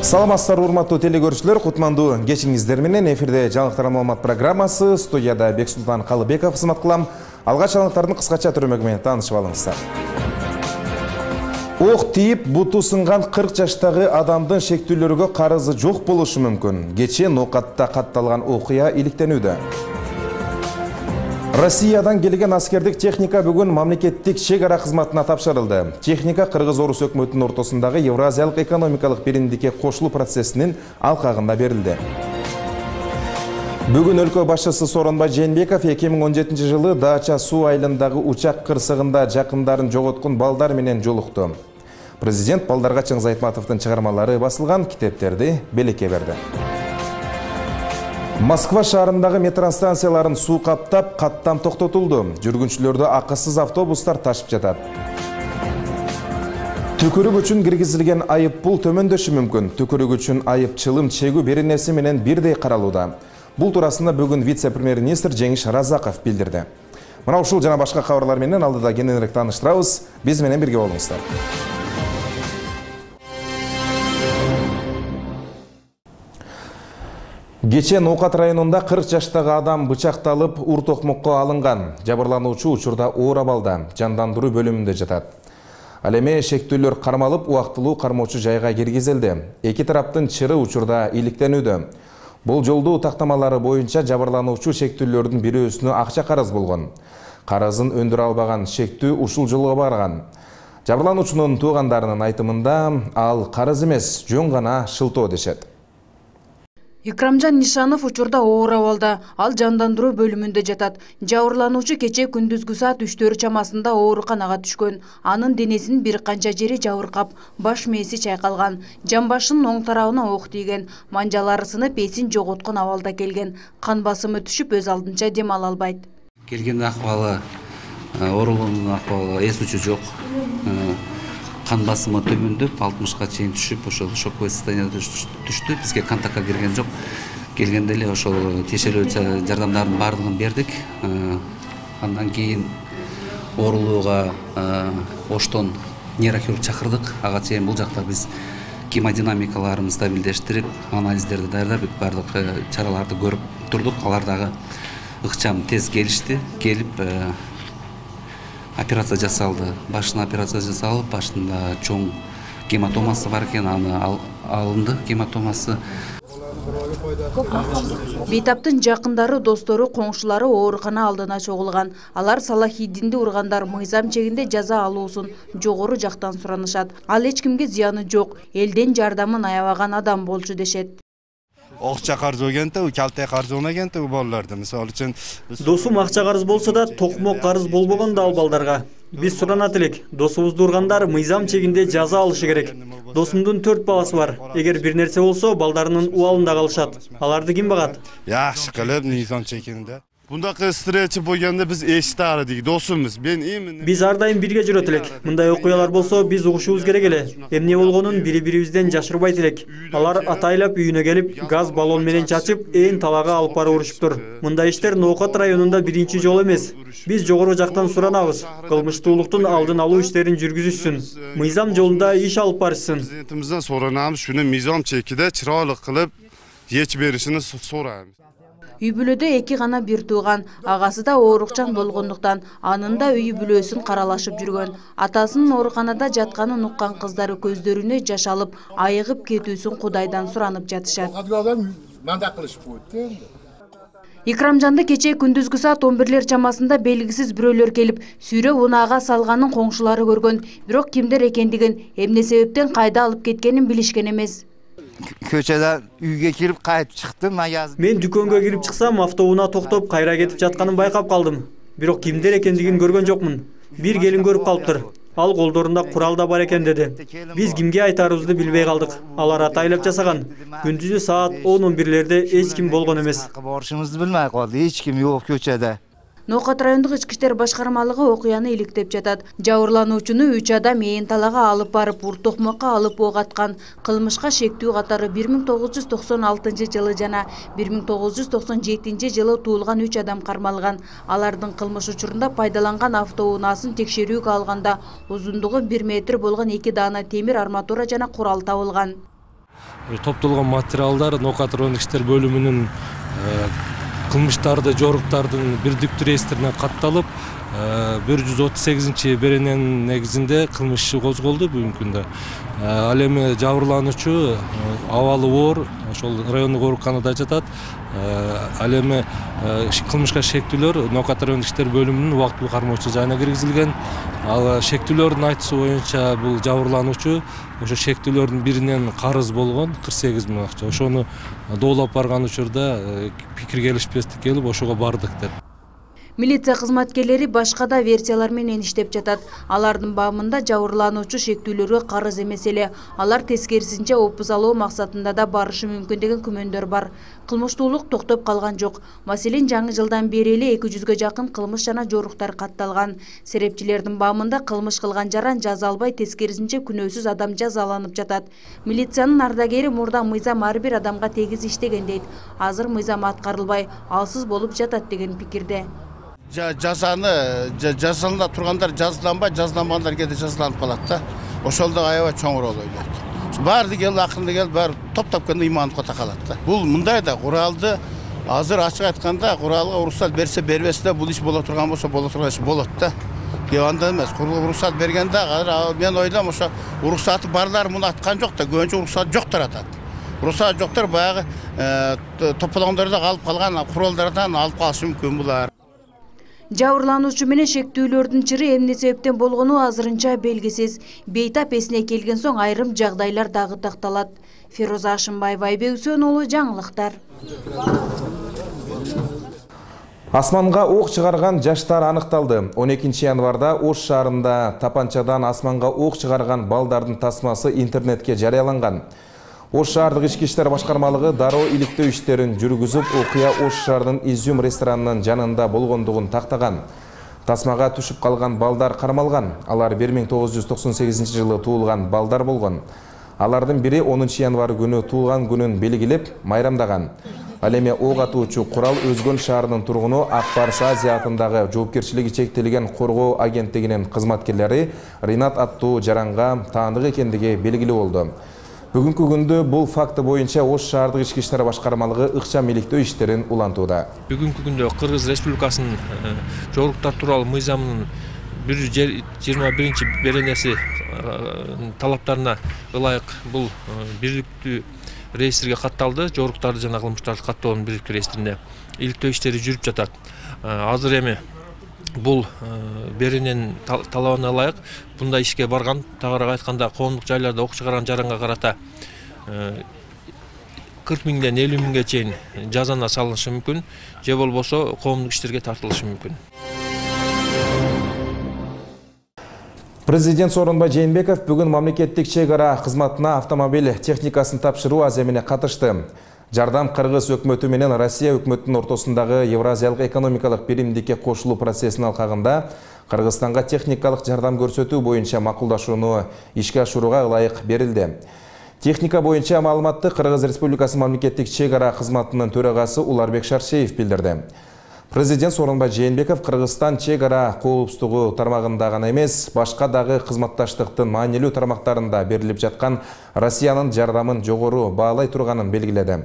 Саламатсыздар урматтуу телекөрүүчүлөр, кутмандуу кечиңиздер менен эфирде жаңылыктар маалымат программасы, студияда Бексултан Калыбеков кызмат кылам. Алгач жаңылыктардын кыскача түрөмөгү менен таанышып алыңыздар. Ок тийип, буту сынган 40 жаштагы адамдын шектүүлөргө карызы жок болушу мүмкүн. Кечээ Ноокатта катталган окуя иликтенүүдө. Россиядан келген аскердик техника бүгүн мамлекеттик чек ара кызматына тапшырылды. Техника Кыргыз Орус өкмөтүнүн ортосундагы Евразиялык экономикалык биримдикке кошулуу процессинин алкагында берилди. Бүгүн өлкө башчысы Сооронбай Жээнбеков 2017 жылы Даача суу айылындагы учак кырсыгында жакындарын жоготкон балдар менен жолукту. Президент Балдарга Чыңгыз Айтматовдун чыгармалары басылган китептерди белекке берди. Москва шаарындагы метростанцияларын суу каптап, каттам токтотулду. Жүргүнчүлөрдү акысыз автобустар ташып жатат. Түкүрүк үчүн киргизилген айып пул төмөндөшү мүмкүн. Түкүрүк үчүн айып чылым чегүү беренеси менен бирдей каралууда. Бул туурасында бүгүн вице-премьер-министр Жеңиш Разаков билдирди. Мына ушул жана башка кабарлар менен алдыда кененирээк тааныштырабыз. Биз менен бирге болуңуздар. Кечээ Ноокат районунда 40 жаштагы адам бычакталып, ур токмокко алынган. Жабырлануучу учурда оор абалда, жандандыруу бөлүмүндө жатат. Ал эми шектүүлөр кармалып, убактылуу кармоочу жайга киргизилди. Эки тараптын чыры учурда иликтенүүдө. Бул жолдуу тактамалары боюнча жабырлануучу шектүүлөрдүн бирөөсүнө акча карыз болгон. Карызын өндүрө албаган шектүү ушул жолго барган. Жабырлануучунун туугандарынын айтымында ал карыз эмес, жөн гана шылтоо дешет. Икрамжан Нишанов учурда оор абалда, ал жандандыруу бөлүмүндө жатат. Жабырлануучу кечээ күндүзгү саат 3 чамасында ооруканага түшкөн. Анын денесинин бир канча жери жабыркап, баш мээси чайкалган. Жамбашынын оң тарабына ок тийген. Манжалары сынып, эсин жоготкон абалда келген. Кан басымы түшүп, өз алдынча дем ала албайт. Келген акыбалы, оорулуунун акыбалы эс учу жок. Кан басымы төмөндөп, 60га чейин түшүп, ошол шоковое состояние түштү. Бизге контактка кирген жок. Келгенде эле ошол тиешелүү жардамдардын баардыгын бердик. Андан кийин оорулууга Оштон нейрохирург чакырдык. Ага чейин бул жакта биз гемодинамикаларын стабилдештирип, анализдерди даярдап, баардык чараларды көрүп турдук. Алар дагы ыкчам тез келишти. Келип операция жасалды. Башына операция жасалып, башында чоң гематомасы бар экен, аны алынды гематомасы. Бейтаптын жакындары, достору, коңшулары оорукана алдына чогулган. Алар Салахиддинди ургандар мыйзам чегинде жаза алуусун жогору жактан суранышат. Ал эч кимге зыяны жок, элден жардамын аябаган адам болчу дешет. Акча карыз болгенде, калте карыз болгенде балдарды, мисалы үчүн досум акча карыз болсо да, токмок карыз болбогон да ал балдарга. Биз суранат элек, досубузду ургандар мыйзам чегинде жаза алышы керек. Досумдун 4 баласы бар. Эгер бир нерсе болсо, балдарынын убалында калышат. Аларды ким багат? Жакшы кылып, мыйзам чегинде. Бундакы встреча болгондо биз эчтаардык, досумуз. Биз ар дайым бирге жүрөт элек. Мындай окуялар болсо, биз угушубуз керек эле. Эмне болгонун бири-бирибизден жашырбайт элек. Алар атайлап үйүнө келип, газ баллон менен чачып, ээн талага алып барып урушуптур. Мындай иштер Ноокат районунда биринчи жолу эмес. Биз жогору жактан суранабыз. Кылмыштуулуктун алдын алуу иштерин жүргүзүшсүн. Мыйзам жолунда иш алып барышсын. Президентимизден суранабыз, шуну мыйзам чекиде чырайлык кылып, эч беришини сурайбыз. Үй бүлөдө эки гана бир тууган, агасы да оорукчан болгондуктан анын да үй бүлөсүн каралашып жүргөн. Атасынын ооруканада жатканын уккан кыздары көздөрүнө жаш алып, айыгып кетүүсүн Кудайдан суранып жатышат. Икрамжанды кечээ күндүзгү саат 11 чамасында белгисиз бирөөлөр келип, сүйрөп унаага салганын коңшулары көргөн. Бирок кимдер экендигин, эмне себептен кайда алып кеткенин билишкен эмес. Көчөдө үйгө кирип кайтып чыктым. Мен дүкөнгө кирип чыксам, автоунаа токтоп, кайра кетип жатканын байкап калдым. Бирок кимдер экендигин көргөн жокмун. Бир келин көрүп калыптыр. Ал колдорунда курал да бар экен деди. Биз кимге айтарыбызды билбей калдык. Алар атайлап жасаган. Күндүзү саат 10-11-лерде эч ким болгон эмес. Борушубузду билмей калды. Эч ким жок көчөдө. Ноокат райондук ички иштер башкармалыгы окуяны иликтеп жатат. Жабырлануучуну 3 адам ээн талага алып барып, ур токмокко алып ок аткан. Кылмышка шектүү катары 1996 жылы жана 1997 жылы туулган 3 адам кармалган. Алардын кылмыш учурунда пайдаланган автоунаасын текшерүүгө алганда узундугу 1 метр болгон 2 даана темир арматура жана курал табылган. Топтолгон материалдар Нокатроник иштер бөлүмүнүн кылмыштарды жоруктардын бирдиктүү реестрине катталып, 138 берененин негизинде кылмыш иши козголду бүгүнкү күндө. Ал эми жабырлануучу абалы оор, ошол райондук ооруканада жатат. Ал эми кылмышка шектүүлөр Нокатроник иштер бөлүмүнүн убактылуу кармоочу жайына киргизилген. Ал шектүүлөрдүн айтуусу боюнча бул жабырлануучу ошо шектүүлөрдүн биринен карыз болгон 48 000 акча. Ошону доолоп барган учурда пикир келишпестик келип ошого бардык деп. Милиция кызматкерлери башка да версиялар менен иштеп жатат. Алардын баамында жабырлануучу шектүүлөргө карыз эмес эле, алар тескерисинче опуз алуу максатында да барышы мүмкүн деген күмөндөр бар. Кылмыштуулук токтоп калган жок. Маселен, жаңы жылдан бери эле 200гө жакын кылмыш жана жоруктар катталган. Серепчилердин баамында кылмыш кылган жаран жаза албай, тескерисинче күнөөсүз адам жазаланып жатат. Милициянын ардагери Мурда мыйзам ар бир адамга тегиз иштеген дейт. Азыр мыйзам аткарылбай, алсыз болуп жатат деген пикирде. Жазаны жазалана тургандар жазаланбай, жазаланбагандар кээде жазаланып калат да. Ошол да аябай чоң роль ойнойт. Баары кел, акырында кел, баары топтоп келгенде имандыкка такалат да. Бул мындай да куралды азыр ачык айтканда куралга уруксат берсе бербесе да бул иш боло турган болсо боло турган иш болот да. Анда эмес, уруксат бергенде азыр мен ойлойм ошо уруксаты барлар муну аткан жок да, көбүнчө уруксат жоктор атат. Уруксат жоктор баягы топтологондордо калып калган куралдардан алып калышы мүмкүн булар. Жабырлануучу менен шектүүлөрдүн чыры эмне себептен болгону азырынча белгисиз. Бейтап эсине келген соң айрым жагдайлар дагы такталат. Фироза Ашымбаева, Айбек Үсөн уулу, жаңылыктар. Асманга ок чыгарган жаштар аныкталды. 12 январда Ош шаарында тапанчадан асманга ок чыгарган балдардын тасмасы интернетке жарыяланган. Ош шаардык ички иштер башкармалыгы дароо иликтөө иштерин жүргүзүп, окуя Ош шаарынын Изюм ресторанынын жанында болгондугун тактаган. Тасмага түшүп калган балдар кармалган. Алар 1998 жылы туулган балдар болгон. Алардын бири 10 январ күнү туулган күнүн белгилеп, майрамдаган. Ал эми ок атуучу курал Өзгөн шаарынын тургуну Акбарс Азия атындагы жоопкерчилиги чектелген коргоо агенттигинин кызматкерлери Ринат аттуу жаранга таандык экендиги белгилүү болду. Бүгүнкү күндө бул факты боюнча Ош шаардык ички иштер башкармалыгы ыкчам иликтөө иштерин улантууда. Бүгүнкү күндө Кыргыз Республикасынын жоруктар тууралуу мыйзамынын 121 беренеси талаптарына ылайык бул бирдиктүү реестрге катталды. Жоруктарды жана кылмыштарды каттоонун бирдиктүү реестрине иликтөө иштери жүрүп жатат. Азыр эми бул берененин талабына ылайык мындай ишке барган, тагыраак айтканда коомдук жайларда ок чыгарган жаранга карата 40 миңден 50 миңге чейин жазана салынышы мүмкүн, же болбосо коомдук иштерге тартылышы мүмкүн. Президент Сооронбай Жээнбеков бүгүн мамлекеттик чек ара кызматына автомобиль техникасын тапшыруу аземине катышты. Жардам Кыргыз өкмөтү менен Россия өкмөтүнүн ортосундагы Евразиялык экономикалык биримдикке кошулуу процессинин алкагында Кыргызстанга техникалык жардам көрсөтүү боюнча макулдашууну ишке ашырууга ылайык берилди. Техника боюнча маалыматты Кыргыз Республикасы мамлекеттик чек ара кызматынын төрагасы Уларбек Шаршеев билдирди. Президент Сооронбай Жээнбеков Кыргызстан чек ара коопсуздугу тармагында гана эмес, башка дагы кызматташтыктын маанилүү тармактарында берилип жаткан Россиянын жардамын жогору баалай турганын белгиледи.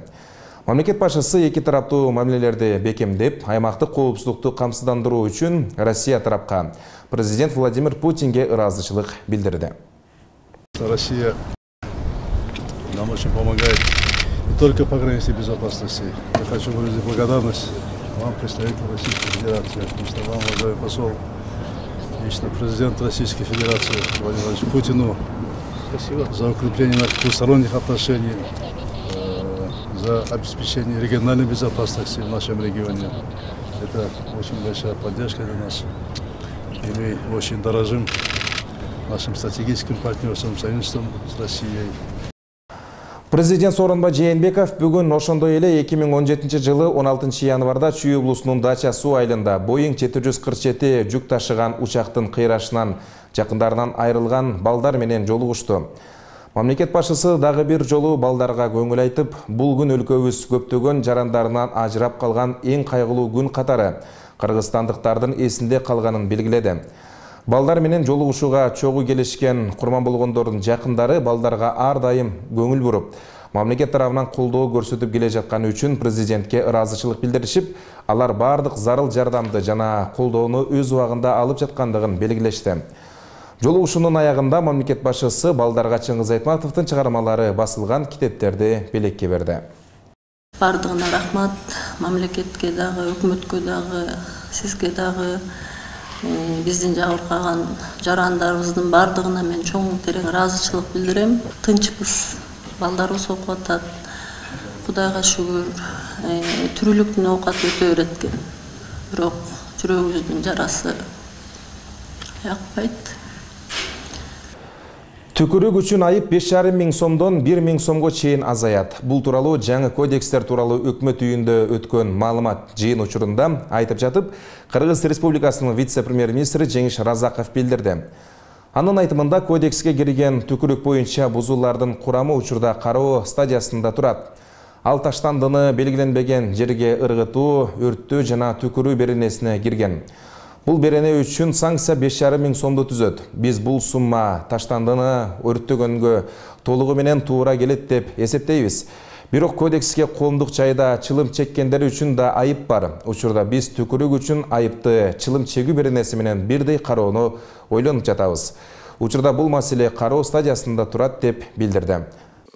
Мамлекет башчысы эки тараптуу мамилелерди бекемдеп, аймактык коопсуздукту камсыздандыруу үчүн Россия тарапка президент Владимир Путинге ыраазычылык билдирди. Россия нам очень помогает не только по границе безопасности. Я хочу выразить благодарность вам, представитель Российской Федерации, вам, уважаемый посол, лично президент Российской Федерации Владимир Владимирович Путину. Спасибо. За укрепление наших двусторонних отношений, за обеспечение региональной безопасности в нашем регионе. Это очень большая поддержка для нас. И мы очень дорожим нашим стратегическим партнерством, союзничеством с Россией. Президент Сооронбай Жээнбеков бүгүн ошондой эле 2017 жылы 16 январда Чүй облусунун Дача суу айылында Boeing 747 жүк ташыган учактын кыйрашынан жакындарынан айрылган балдар менен жолугушту. Мамлекет башчысы дагы бир жолу балдарга көңүл айтып, бул күн өлкөбүз көптөгөн жарандарынан ажырап калган эң кайгылуу күн катары кыргызстандыктардын эсинде калганын белгиледи. Балдар менен жолугушууга чогуу келишкен курман болгондордун жакындары балдарга ар дайым көңүл буруп, мамлекет тарабынан колдоо көрсөтүп келе жатканы үчүн президентке ыраазычылык билдиришип, алар бардык зарыл жардамды жана колдоону өз убагында алып жаткандыгын белгилешти. Жолугушуунун аягында мамлекет башчысы Балдарга Чыңгыз Айтматовдун чыгармалары басылган китептерди белекке берди. Бардыгына рахмат, мамлекетке дагы, өкмөткө дагы, сизге дагы, биздин жабыркаган жарандарыбыздын бардыгына мен чоң терең ыраазычылык билдирем. Тынчпыз, балдарыбыз окуп атат. Кудайга шүгүр, түрүлүктүн оокаты өтө берет экен. Бирок жүрөгүбүздүн жарасы якпайт. Түкүрүк үчүн айып 5,5 миң сомдон 1 миң сомго чейин азаят. Бул тууралуу жаңы кодекстер тууралуу өкмөт үйүндө өткөн маалымат жыйын учурунда айтып жатып, Кыргыз Республикасынын вице-премьер-министри Жеңиш Разаков билдирди. Анын айтымында кодекске кирген түкүрүк боюнча бузуулардын курамы учурда кароо стадиясында турат. Ал таштандыны белгиленбеген жерге ыргытуу, өрттөө жана түкүрүү беренесине кирген. Бул берене үчүн санкция 5,5 миң сомду түзөт. Биз бул сумма таштандыны өрттөгөнгө толугу менен туура келет деп эсептейбиз. Бирок кодекске коомдук жайда чылым чеккендер үчүн да айып бар. Учурда биз түкүрүк үчүн айыпты чылым чегүү беренеси менен бирдей кароону ойлонуп жатабыз. Учурда бул маселе кароо стадиясында турат деп билдирди.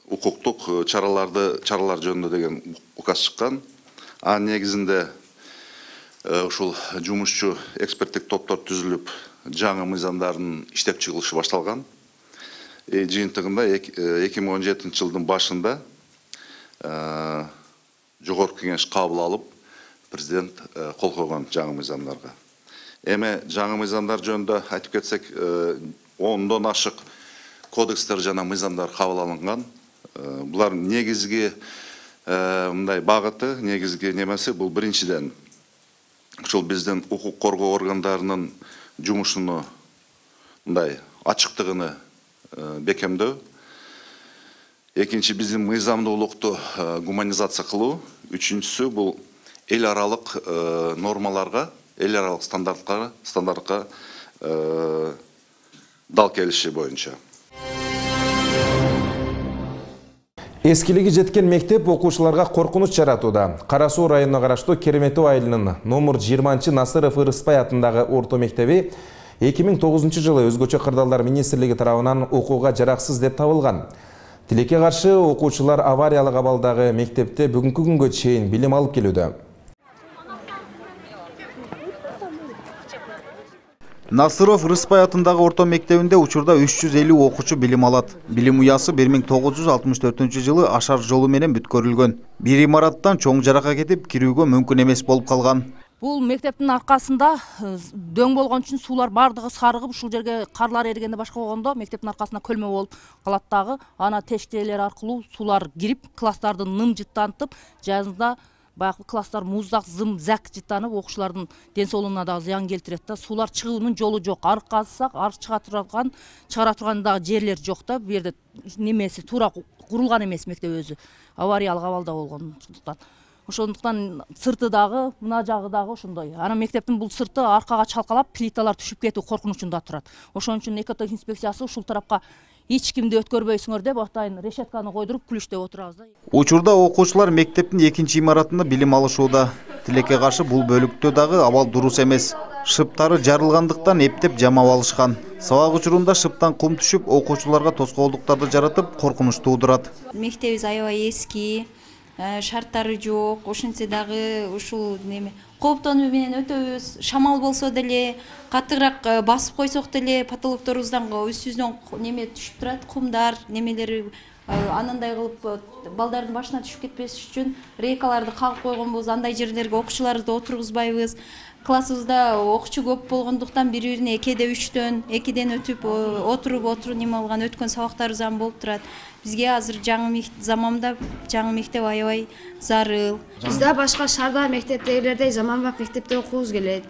Укуктук чаралар жөнүндө деген указ чыккан. Анын негизинде ушул жумушчу эксперттик топтор түзүлүп, жаңы мыйзамдардын иштеп чыгылышы башталган. Жыйынтыгында 2017 жылдын башында жогорку кеңеш кабыл алып, президент кол койгон жаңы мыйзамдарга. Эми жаңы мыйзамдар жөнүндө айтып кетсек, 10дон ашык кодекстер жана мыйзамдар кабыл алынган. Булар негизги мындай багыты, негизги немеси бул биринчиден ушул биздин укук коргоо органдарынын жумушуну мындай ачыктыгыны бекемдөө. Экинчи биздин мыйзамдуулукту гуманизация кылуу. Үчүнчүсү бул эл аралык нормаларга, эл аралык стандартка дал келиши боюнча. Эскилиги жеткен мектеп окуучуларга коркунуч жаратууда. Кара Суу районуна караштуу Кереметов айылынын номер 20 Насыров Ырыспай атындагы орто мектеби 2009 жылы өзгөчө кырдаалдар министрлиги тарабынан окууга жараксыз деп табылган. Тилекке каршы окуучулар авариялык абалдагы мектепте бүгүнкү күнгө чейин билим алып келүүдө. Насыров Рыспай атындагы орто мектебинде учурда 350 окуучу билим алат. Билим уясы 1964 жылы ашар жолу менен бүткөрүлгөн. Бир имараттан чоң жарака кетип, кирүүгө мүмкүн эмес болуп калган. Бул мектептин аркасында дөң болгон үчүн суулар бардыгы сарыгып, ушул жерге карлар эригенде башка болгондо мектептин аркасында көлмө болуп калат дагы. Ана тештелер аркылуу суулар кирип, класстарды ным жыттантып, жазында баягы класстар муздак, зым, зак жыттанып, окуучулардын ден соолугуна да зыян келтирет да. Суулар чыгуунун жолу жок. Арык казсак, арык чыгара турган дагы жерлер жок да. Бу жерде немеси туура курулган эмес мектеп өзү. Авариялык абалда болгондуктан. Ошондуктан сырты дагы, мына жагы дагы ошондой. Ана мектептин бул сырты аркага чалкалап, плиталар түшүп кетүү коркунучунда турат. Ошон үчүн экотех инспекциясы ушул тарапка эч кимди өткөрбөйсүңөр деп атайын решетканы койдуруп күлүштөп отурабыз да. Учурда окуучулар мектептин экинчи имаратында билим алышууда. Тилекке каршы бул бөлүктө дагы абал дурус эмес. Шыптары жарылгандыктан эптеп жамап алышкан. Сабак учурунда шыптан кум түшүп, окуучуларга тоскоолдуктарды жаратып, коркунуч туудурат. Мектебибиз аябай эски, шарттары жок, ошентсе дагы ушул неме кооптонуу менен өтөбүз. Шамал болсо деле, катыраак басып койсок деле потолокторубуздан үстүбүздөн неме түшүп турат, кумдар, немелери анандай кылып балдардын башына түшүп кетпеш үчүн рейкаларды кагып койгонбуз. Андай жерлерге окуучуларды отургузбайбыз. Классыбызда окуучу көп болгондуктан бири-бирине кээде 3төн, 2ден өтүп отуруп неме алган өткөн сабактарыбыз ham болуп турат. Бизге азыр жаңы заманда жаңы мектеп аябай зарыл. Бизде башка шаарда мектептегилердей заманбап мектепте окуубуз келет.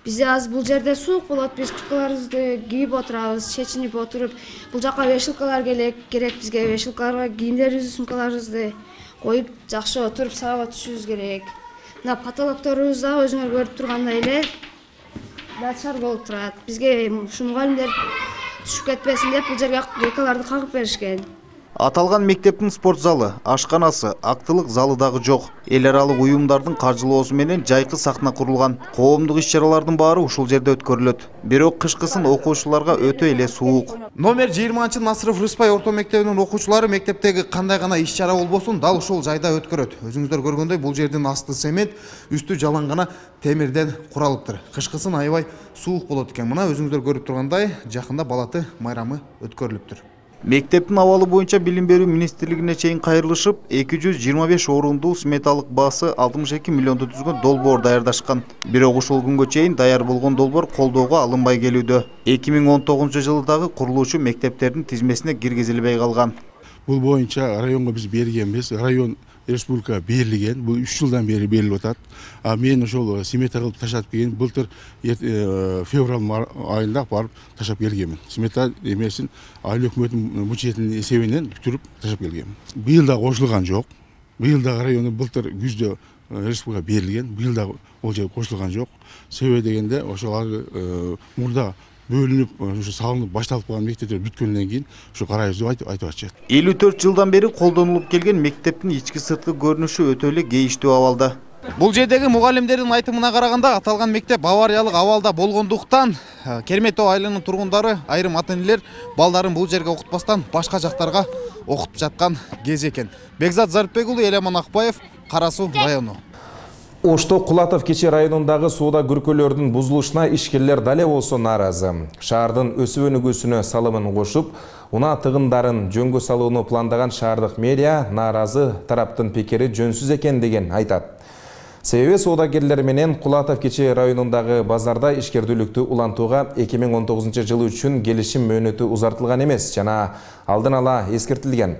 Бизде азыр бул жерде суук болот, биз курткаларыбызды кийип отурабыз, чечинип отуруп. Бул жака вешалкалар керек бизге, вешалкаларга кийимдерибизди, сумкаларыбызды коюп, жакшы отуруп сабакка түшүбүз керек. Мына потолокторубуз да өзүңөр көрүп тургандай эле начар болуп турат. Бизге ушу мугалимдер түшүп кетпесин деп бул жерге рейкаларды кагып беришкен. Аталган мектептин спорт залы, ашканасы, актылык залы дагы жок. Эл аралык уюмдардын каржылоосу менен жайкы сахна курулган. Коомдук иш-чаралардын баары ушул жерде өткөрүлөт. Бирок кышкысын окуучуларга өтө эле суук. Номер 20 Насыров Рыспай орто мектебинин окуучулары мектептеги кандай гана иш-чара болбосун дал ушул жайда өткөрөт. Өзүңүздөр көргөндөй бул жердин асты цемент, үстү жалаң гана темирден куралыптыр. Кышкысын аябай суук болот экен. Мына өзүңүздөр көрүп тургандай, жакында балаты майрамы өткөрүлүптүр. Мектептин абалы боюнча билим берүү министрлигине чейин кайрылышып, 225 орундуу сметалык баасы 62 миллионду түзгөн долбоор даярдашкан. Бирок ушул күнгө чейин даяр болгон долбоор колдоого алынбай келүүдө. 2019-жылы дагы курулуучу мектептердин тизмесине киргизилбей калган. Бул боюнча районго биз бергенбиз. Район республика берилген. Бул 3 жылдан бери берилип атат. А мен ошол смета кылып ташап келген. Былтыр февраль айында барып ташап келгенмин. Смета эмесин айыл өкмөтүнүн бюджетинин эсебинен бүтүрүп ташап келгенмин. Быйыл да кошулган жок. Быйыл да району былтыр күздө республика берилген. Быйыл да ол жер кошулган жок. Себеби дегенде ошол мурда бөлүнүп, ошо салынып башталып калган мектептер бүткөндөн кийин ошо карайбыз деп айтып атышат. 54 жылдан бери колдонулуп келген мектептин ички сырткы көрүнүшү өтө эле кейиштүү абалда. Бул жердеги мугалимдердин айтымына караганда, аталган мектеп авариялык абалда болгондуктан Керметөө айылынын тургундары, айрым ата-энелер балдарын бул жерге окутпастан башка жактарга окутуп жаткан кез экен. Бекзат Зарипбек уулу, Элеман Акбаев, Кара Суу району. Ошто Кулатов кече районундагы сууда күркөлөрдүн бузулушуна ишкерлер дале болсо нааразы. Шаардын өсүп өнүгүүсүнө салымын кошуп, унаа тыгындарын жөнгө салууну пландаган шаардык мэрия нааразы тараптын пикири жөнсүз экен деген айтат. Себеби соодагерлер менен Кулатов кече районундагы базарда ишкердүүлүктү улантууга 2019-жылы үчүн келишим мөөнөтү узартылган эмес жана алдын ала эскертилген.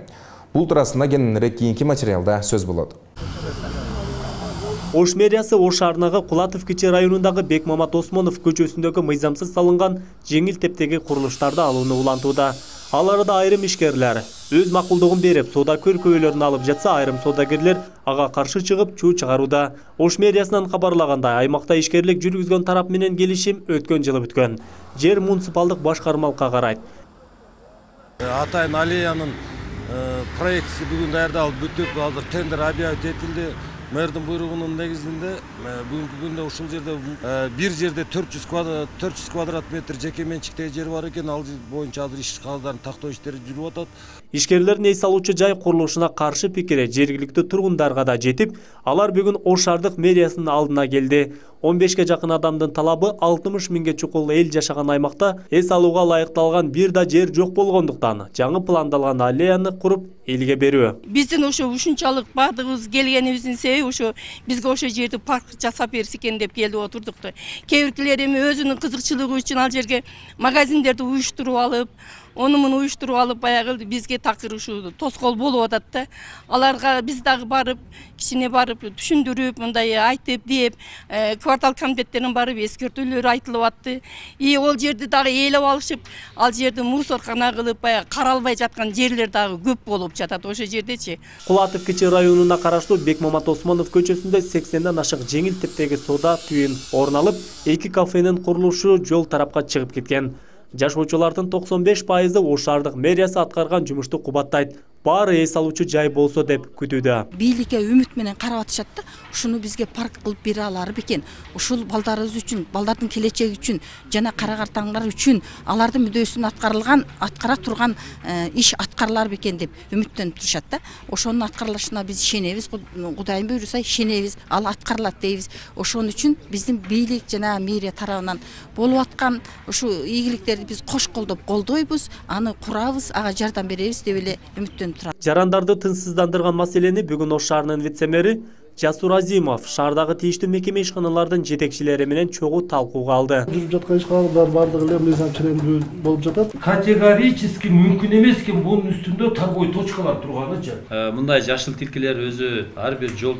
Бул туурасында кененирээк кийинки материалда сөз болот. Ош мэриясы Ош шаарындагы Кулатов кече районундагы Бекмамат Осмонов көчөсүндөгү мыйзамсыз салынган жеңил тептеги курулуштарды алууну улантууда. Ал арада айрым ишкерлер өз макулдугун берип, соода көркөөлөрүн алып жатса, айрым соодагерлер ага каршы чыгып чуу чыгарууда. Ош мэриясынан кабарлагандай, аймакта ишкерлик жүргүзгөн тарап менен келишим өткөн жылы бүткөн. Жер муниципалдык башкармалыкка карайт. Атайын аллеянын проектisi бүгүн даярдалып бүтүп, азыр тендер объявить этилди. Мэрдин буйругунун негизинде бүгүнкү күндө ушул жерде бир жерде 400 квадрат метр жеке менчиктеги жер бар экен. Ал боюнча азыр иш кагыздарын тактоо иштери жүрүп атат. Ишкерлердин эс алуучу жай курулушуна каршы пикири жергиликтүү тургундарга да жетип, алар бүгүн Ош шаардык мэриясынын алдына келди. 15ке жакын адамдын талабы 60 миңге чукул эл жашаган аймакта эс алууга лайыкталган бир да жер жок болгондуктан жаңы пландалган аллеяны куруп элге берүү. Биздин ошо ушунчалык баардыгыбыз келгенибиздин себеби ошо бизге ошо жерди парк жасап берсе экен деп келип отурдук да. Кээ биркилер эми өзүнүн кызыкчылыгы үчүн ал жерге магазиндерди уюштуруп алып, онумун уюштуруп алып баягы бизге такыр ушу тоскоол болуп атат да. Аларга биз дагы барып, кичине барып түшүндүрүп, мындай айтып деп, квартал комитеттеринен барып эскертүүлөр айтылып атты. Ол жерди дагы ээлеп алышып, ал жерди мусоркана кылып, баягы каралбай жаткан жерлер дагы көп болуп жатат ошол жердечи. Кулатов кече районуна караштуу Бекмамат Осмонов көчөсүндө 80ден ашык жеңил тептеги соода түйүн орун алып, 2 кафенин курулушу жол тарапка чыгып кеткен. Жашоочулардын 95% Ош шаардык мэриясы аткарган жумушту кубаттайт. Баары эс алуучу жай болсо деп күтүүдө. Бийликке үмүт менен карап атышат да, ушуну бизге парк кылып бере алар бекен. Ушул балдарыбыз үчүн, балдардын келечеги үчүн жана карагартаңдар үчүн алардын мүдөөсүн аткара турган иш аткарылар бекен деп үмүттөнүп турушат да. Ошонун аткарылышына биз ишенебиз, Кудайым буйруса ишенебиз, ал аткарылат дейбиз. Ошон үчүн биздин бийлик жана мэрия тарабынан болуп аткан ушу ийгиликтерди биз кош колдоп колдойбуз, аны курабыз, ага жардам беребиз деп эле үмүттөнүп. Жарандарды тынчсыздандырган маселени бүгүн Ош шаарынын вице-мэри Жасур Азимов шаардагы тийиштүү мекеме ишканалардын жетекчилери менен чогуу талкууга алды. Жүрүп жаткан ишканалар бардыгы эле мыйзам ченемдүү болуп жатат. Категорически мүмкүн эмес экен бунун үстүндө торговый точкалар турганычы. Мындай жашыл тилкелер өзү ар бир жол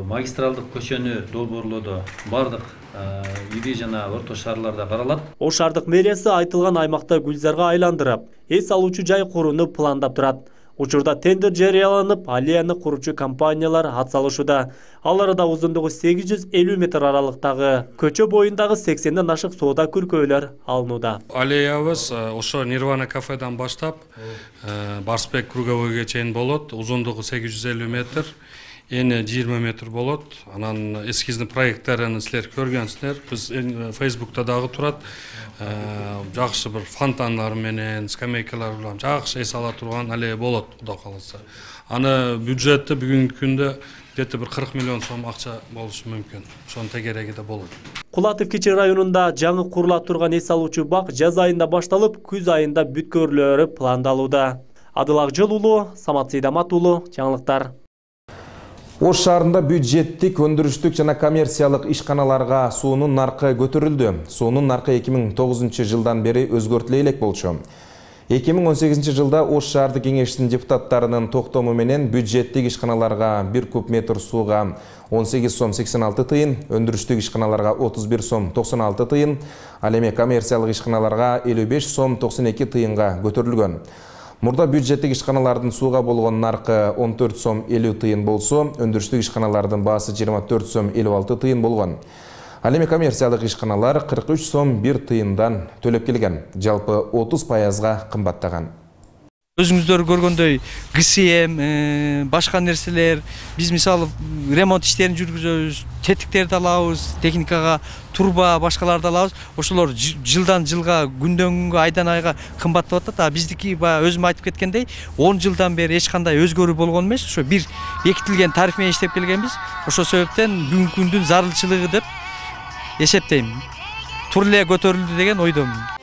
магистралдык көчөнү долбоорлоодо бардык ири жана орто шаарларда каралат. Ош шаардык мэриясы айтылган аймакта гүлзарга айландырып, эс алуучу жай курууну пландап турат. Учурда тендер жарыяланып, аллеяны куручу компаниялар атсалышууда. Аларда узундугу 850 метр аралыктагы көчө боюндагы 80ден ашык соода күркөөлөр алынууда. Аллеябыз ошо Нирвана кафеден баштап Барсбек круговойго чейин болот. Узундугу 850 метр, ени 20 метр болот. Анан эскизни проекттарын силер көргөнсүздөр. Биз Facebook'та дагы турат. Жакшы бир фонтандар менен, скамейкалар менен жакшы эс ала турган аллея болот, Кудай кааласа. Аны бюджети бүгүнкү күндө где-то бир 40 миллион сом акча болушу мүмкүн. Ошонун тегереги да болот. Кулатов Кичи районунда жаңы курула турган эс алуучу бак жаз айында башталып, күз айында бүткөрүлөрү пландалууда. Адыл Акжол уулу, Самат Сейдамат уулу, жаңылыктар. Ош шаарында бюджеттик, өндүрүштүк жана коммерциялык ишканаларга суунун наркы көтөрүлдү. Суунун наркы 2009 жылдан бери өзгөртүлө элек болчу. 2018 жылда Ош шаардык кеңештин депутаттарынын токтому менен бюджеттик ишканаларга 1 куб метр сууга 18 сом 86 тыйын, өндүрүштүк ишканаларга 31 сом 96 тыйын, ал эми коммерциялык ишканаларга 55 сом 92 тыйынга көтөрүлгөн. Мурда бюджеттик ишканалардын сууга болгон наркы 14 сом 50 тыйын болсо, өндүрүштүк ишканалардын баасы 24 сом 56 тыйын болгон. Ал эми коммерциялык ишканалар 43 сом 1 тыйындан төлөп келген. Жалпы 30%га кымбаттаган. Өзүңүздөр көргөндөй ГСМ, башка нерселер, биз мисалы ремонт иштерин жүргүзөбүз, тетиктерди алабыз, техникага, турба, башкаларды алабыз. Ошолор жылдан жылга, күндөн күнгө, айдан айга кымбаттап атат. А биздики өзүм айтып кеткендей, 10 жылдан бери эч кандай өзгөрүү болгон эмес. Ошо бир бекитилген тариф менен иштеп келгенбиз. Ошол себептен бүгүнкү күндүн зарылчылыгы деп эсептейм. Тур эле көтөрүлдү деген ойдомун.